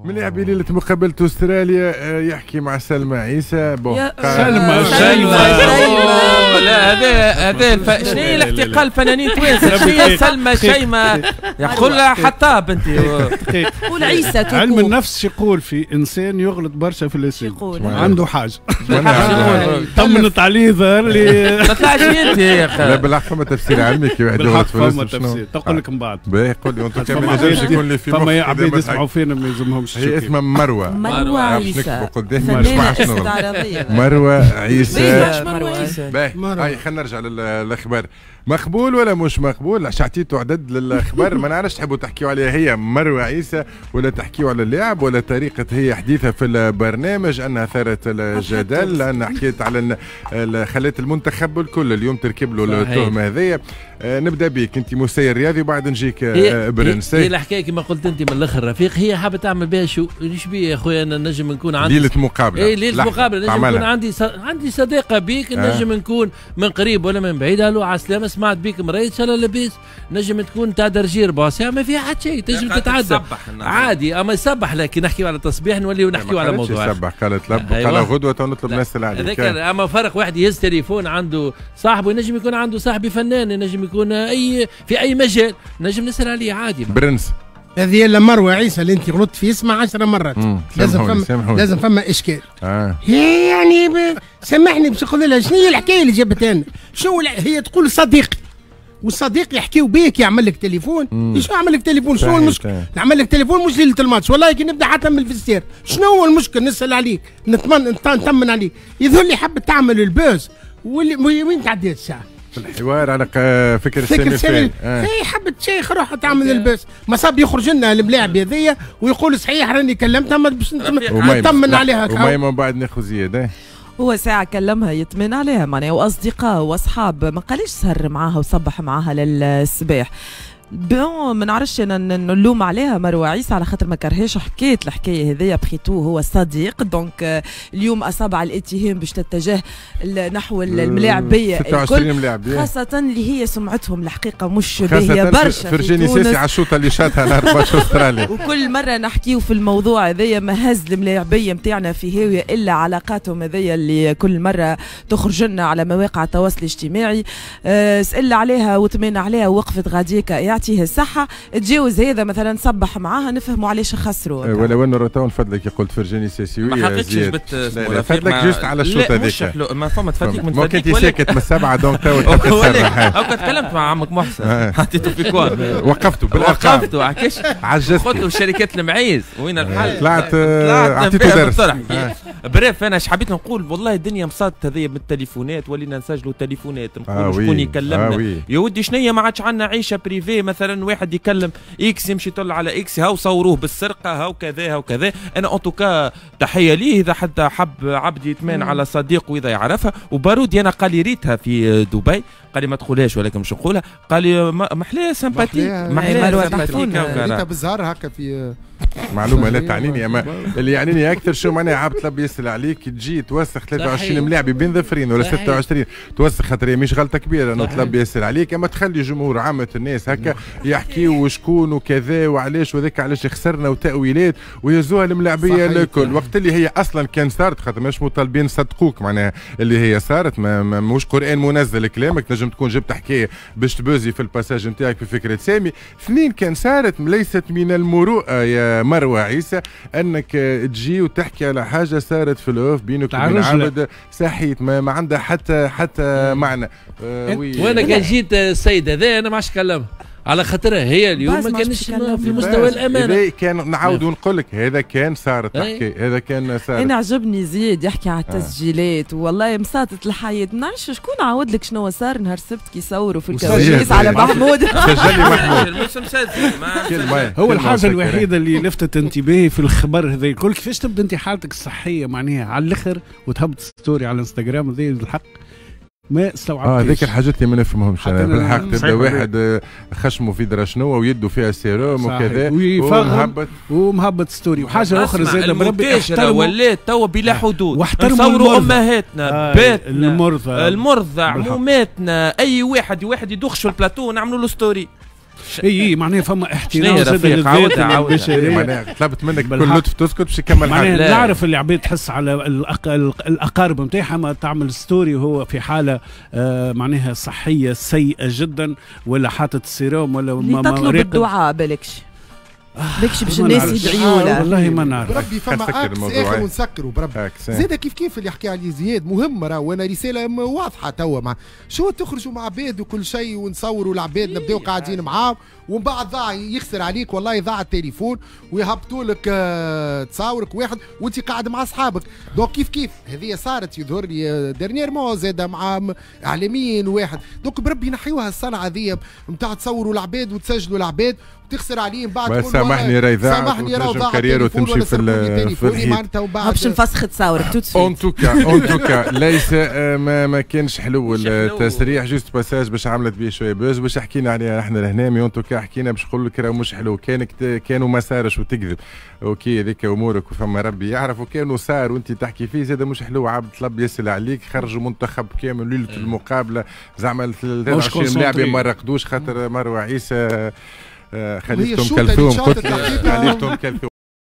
ملاعب ليلة مقابلة استراليا يحكي مع سلمى عيسى. bon سلمى سلمى لا هذا شنو هي الاحتقال الفنانين توانسة؟ شنو هي سلمى شيماء؟ يقول لها حطاب انت قول عيسى. علم النفس يقول في انسان يغلط برشا في الاسم عنده حاجة طمنت عليه ظهر لي ما طلعش انت يا اخي. لا بالحق فما تفسير علمي كي واحد يغلط في الاسم. فما تفسير تقول لك من بعد. باهي قول لي انت ما ينجمش يكون لي في فما عباد يسمعوا فينا ما يلزمهمش. هي اسمها مروه مروه عيسى فنانة مروه عيسى. باهي هاي خلينا نرجع للاخبار. مقبول ولا مش مقبول؟ عطيتوا عدد للاخبار ما نعرفش تحبوا تحكيوا عليها هي مروه عيسى ولا تحكيوا على اللاعب ولا طريقه هي حديثها في البرنامج انها ثارت الجدل لان حكيت على خلت المنتخب الكل اليوم تركب له التهمة هذيا. نبدا بك انت مسير رياضي وبعد نجيك برنس. هي الحكاية كما قلت انت من الاخر رفيق، هي حابة تعمل بها شو ليش بيه يا خويا؟ انا نجم نكون عندي ليلة مقابله. اي ليلة مقابله نجم نكون عندي صداقه بيك، نجم نكون من قريب ولا من بعيد. الو على السلامة، سمعت بيك مريض ان شاء الله لاباس. نجم تكون تاع درجي ربع ساعة ما فيها حتى شيء، تنجم تتعدى عادي. اما يصبح لكن نحكيو على تصبيح نوليو نحكيو على موضوع. يصبح قالت لب قال غدوه نطلب نسال عليك. اما فرق واحد يهز تليفون عنده صاحبه، ينجم يكون عنده صاحبي فنان، ينجم يكون اي في اي مجال، نجم نسال عليه عادي. برنس هذه الا مروه عيسى اللي انت غلطت في اسمها 10 مرات. لازم فما اشكال. هي يعني سامحني باش نقول لها شنو هي الحكاية اللي جابتها لنا؟ شنو هي تقول صديقي، والصديق يحكيو بيك يعمل لك تليفون. شنو يعمل لك تليفون؟ شنو المشكل؟ نعمل لك تليفون مش ليلة الماتش، والله كي نبدا حتى من ال vestiaire. شنو هو المشكل؟ نسال عليك، نطمن عليك. يظهر لي حبت تعمل ال buzz. وين تعديت الساعة؟ في الحوار على فكرة سامي. هي حبت شيخ روحها تعمل ال buzz، ما صاب يخرج لنا الملاعب هذيا ويقول صحيح راني كلمتها ما باش نطمن عليها. وما من بعد ناخذ زيادة. هو ساعة كلمها يطمن عليها معناها، وأصدقاء وأصحاب، ما قاليش سهر معاها وصبح معاها للصباح. bon ما نعرفش انا نلوم عليها مروه عيسى على خاطر ما كرهاش حكيت الحكاية هذيا. après tout هو صديق، donc اليوم اصابع الاتهام باش تتجه نحو الملاعبيه الكل، خاصة اللي هي سمعتهم الحقيقة مش باهيه برشا. فرجيني ساسي على الشوطه اللي شاتها نهار ماتش استراليا. وكل مرة نحكيو في الموضوع هذايا ما هز الملاعبيه نتاعنا في هاوية الا علاقاتهم هذيا اللي كل مرة تخرج لنا على مواقع التواصل الاجتماعي. سأل عليها وطمن عليها ووقفت غاديكا يعطيه الصحة. تجاوز هذا مثلا صبح معاها نفهموا علاش خسروا. ولو انه تو نفدلك قلت فرجاني ساسي ما حقتش جبت فدلك juste على الشوط هذاك. ما فما تفدلك من فدلك انت ساكت من السبعة donc تو تسرح. او تكلمت مع عمك محسن حطيته في coin وقفته بالارقام، وقفته عكش عجزت قلت له شركات المعيز وين الحل؟ طلعت عطيته درس. bref انا اش حبيت نقول والله الدنيا مصادت هذيا بالتليفونات، ولينا نسجلوا تليفونات نقولوا شكون يكلمنا. يا ودي شنيا ما عادش عندنا عيشه privée. مثلا واحد يكلم X يمشي يطلع على X، هاو صوروه بالسرقة هاو كذا هاو كذا. انا en tout cas تحية ليه اذا حتى حب عبد يتمان على صديقه واذا يعرفها. وبارودي انا قال لي ريتها في دبي، قال لي ما تقولهاش ولكن مش نقولها، قال لي محلاها sympathique محلاها sympathique ريتها بالزهر هكا في معلومة لا تعنيني. اما اللي يعنيني اكثر شو معناها عبد طلب يسال عليك تجي توسخ 23 ملاعب بين ظفرين ولا 26 توسخ خاطر مش غلطه كبيرة انه طلب يسال عليك، اما تخلي جمهور عامة الناس هكا يحكيوا وشكون وكذا وعلاش وذاك علاش خسرنا وتاويلات ويهزوها الملاعبيه الكل وقت اللي هي اصلا كان صارت، خاطر مش مطالبين صدقوك معناها اللي هي صارت مش قران منزل كلامك، تنجم تكون جبت حكاية باش تبوزي في ال passage نتاعك في فكرة سامي. اثنين كان صارت ليست من المروءة يا مروه عيسى انك تجي وتحكي على حاجة صارت في ال off بينك وبين عبد صحيت ما عندها حتى معنى. وانا كان جيت السيد هذا انا ما عادش كلمها على خاطرها هي اليوم ما كانش في مستوى الامانة. كان نعاود ونقول لك هذا كان صارت تحكي هذا كان صارت. انا عجبني زياد يحكي على التسجيلات والله مساطت الحياة. ما نعرفش شكون عاود لك شنو صار نهار السبت كي صوروا في الكواليس على محمود. سجل لي محمود. هو الحاجة الوحيدة اللي لفتت انتباهي في الخبر هذا الكل كيفاش تبدا انت حالتك الصحية معناها على الاخر وتهبط story على الانستغرام هذا الحق ما استوعبتش. هذيك الحاجات اللي ما نفهمهمش انا بالحق. تبدا واحد خشمه في درا شنو ويده فيها سيروم وكذا ومهبط story. وحاجه اخرى زاد بربي ولات توا بلا حدود نصوروا امهاتنا باتنا المرضى عموماتنا اي واحد يدخش في البلاتو نعملوا له story. اي معناها فما احترام زاد للذات البشرية. معناها طلبت منك بكل لطف تسكت باش يكمل. معناها نعرف اللي عباد تحس على الاقارب نتاعها ما تعمل story وهو في حاله معناها صحية سيئه جدا، ولا حاطط السيروم ولا ما تطلب الدعاء بالكش بالكش باش الناس يدعيوا له. والله ما نعرف بربي فما axe اخر ونسكروا بربي زاد كيف كيف اللي حكى عليه زياد مهم راه، وانا رسالة واضحة توا مع شو تخرجوا مع عباد وكل شيء ونصوروا العباد نبداو قاعدين معاهم ومن بعد ضاع يخسر عليك والله ضاع التليفون ويهبطوا لك تصاورك واحد وانت قاعد مع اصحابك. donc كيف كيف هذه صارت يظهر لي dernièrement زاد مع اعلاميين واحد. donc بربي نحيوها الصنعة هذه نتاع تصوروا العباد وتسجلوا العباد وتخسر عليهم بعد. سامحني راهي سامحني راهي ضاع carrière وتمشي في الحيط باش نفسخ تصاورك tout de suite. en tout cas ليس ما كانش حلو التسريح، juste passage باش عملت به شوية buzz باش حكينا عليها احنا لهنا. mais en tout cas حكينا باش نقول لك راه مش حلو، كانوا ما صارش وتكذب OK هذيك امورك وفما ربي يعرف، وكانوا صار وانت تحكي فيه زاد مش حلو. عبد طلب يسال عليك خرجوا منتخب كامل ليلة المقابلة زعما 23 لاعب ما رقدوش خاطر مروه عيسى خليفة ام كلثوم. خليفة ام كلثوم.